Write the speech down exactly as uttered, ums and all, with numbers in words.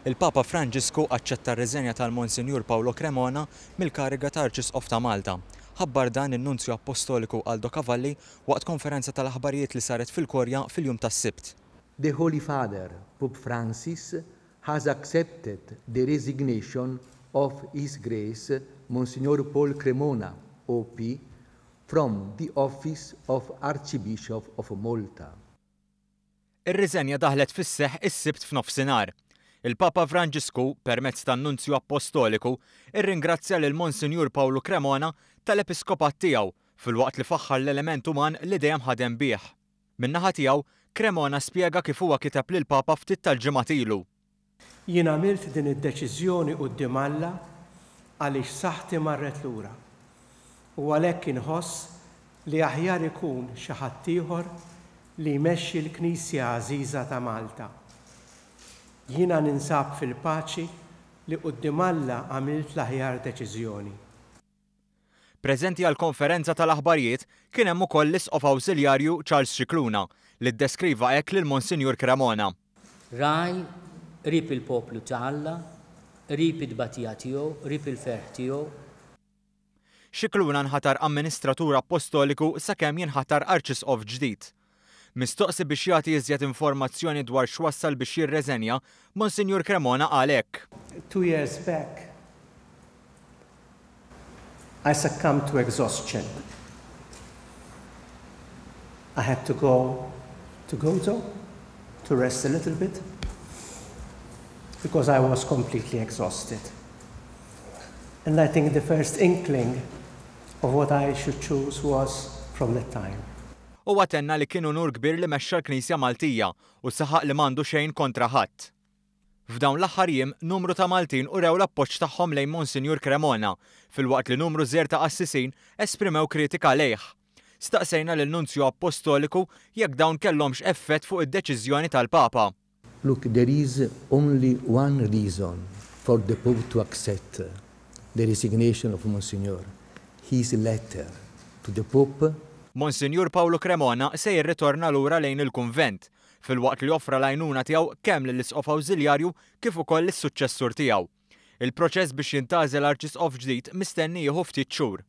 Il-Papa Franġisku aċċetta r-riżenja tal-Monsinjur Paolo Cremona mill-kariga ta' Arċisqof ta' Malta. Ħabbar dan in-Nunzju Appostoliku Aldo Cavalli waqt konferenza tal-aħbarijiet li saret fil-Kurja fil-jum tas-Sibt. The Holy Father, Pope Francis, has accepted the resignation of His Grace Monsignor Paul Cremona, O P, from the office of Archbishop of Malta. Ir-riżenja daħlet fis-seħħ is-Sibt f'nofsinhar. Il-Papa Franġisku, permezz tan-Nunzju Appostoliku, irringrazzja lil Monsinjur Paolo Cremona tal-episkopat tiegħu filwaqt li faħħar l-element uman li dejjem ħadem bih. Min-naħa tiegħu, Cremona spjega kif huwa kiteb lil Papa ftit tal-ġimgħat ilu. Jien għamilt din id-deċiżjoni quddiem Alla għaliex saħħti marret lura. U għalhekk inħoss li aħjar ikun xi ħadd ieħor li jmexxi l-Knisja għażiża ta' Malta. Jiena ninsab fil-paċi li quddiem Alla għamilt l-aħjar deċiżjoni. Preżenti għal konferenza tal-aħbarijiet kien hemm ukoll l-Isqof Awżiljarju Charles Scicluna, li ddeskriva hekk lil Monsinjur Cremona. Ragħaj qrib il-poplu ta' Alla, qrib it-tbatija tiegħu, qrib il-ferħ tiegħu. Scicluna nħatar amministratur apostoliku sakemm jinħatar arċisqof ġdid. Mistoqsi biex jagħti iżjed informazzjoni dwar x'wassal biex jirreżenja, Monsinjur Cremona qal hekk. Two years back, I succumbed to exhaustion. I had to go to Gozo to rest a little bit because I was completely exhausted. And I think the first inkling of what I should choose was from that time. Huwa tenna li kien unur kbir li mexxa l-Knisja Maltija u saħaq li m'għandu xejn kontra ħadd. F'dawn l-aħħar jiem, numru ta' Maltin urew l-appoġġ tagħhom lejn Monsinjur Cremona, filwaqt li numru żgħir ta' qassisin esprimew kritika lejh. Staqsejna lil Nunzju Apostoliku jekk dawn kellhomx effett fuq id-deċiżjoni tal-Papa. Look, there is only one reason for the Pope to accept the resignation of Monsignor. His letter to the Pope. Monsinjur Paolo Cremona se jirritorna lura lejn il-kunvent, filwaqt li offra l-għajnuna tiegħu kemm lill-Isqof Awżiljarju kif ukoll lis-suċċessur tiegħu. Il-proċess biex jintgħażel arċisqof ġdid mistenni jieħu ftit xhur.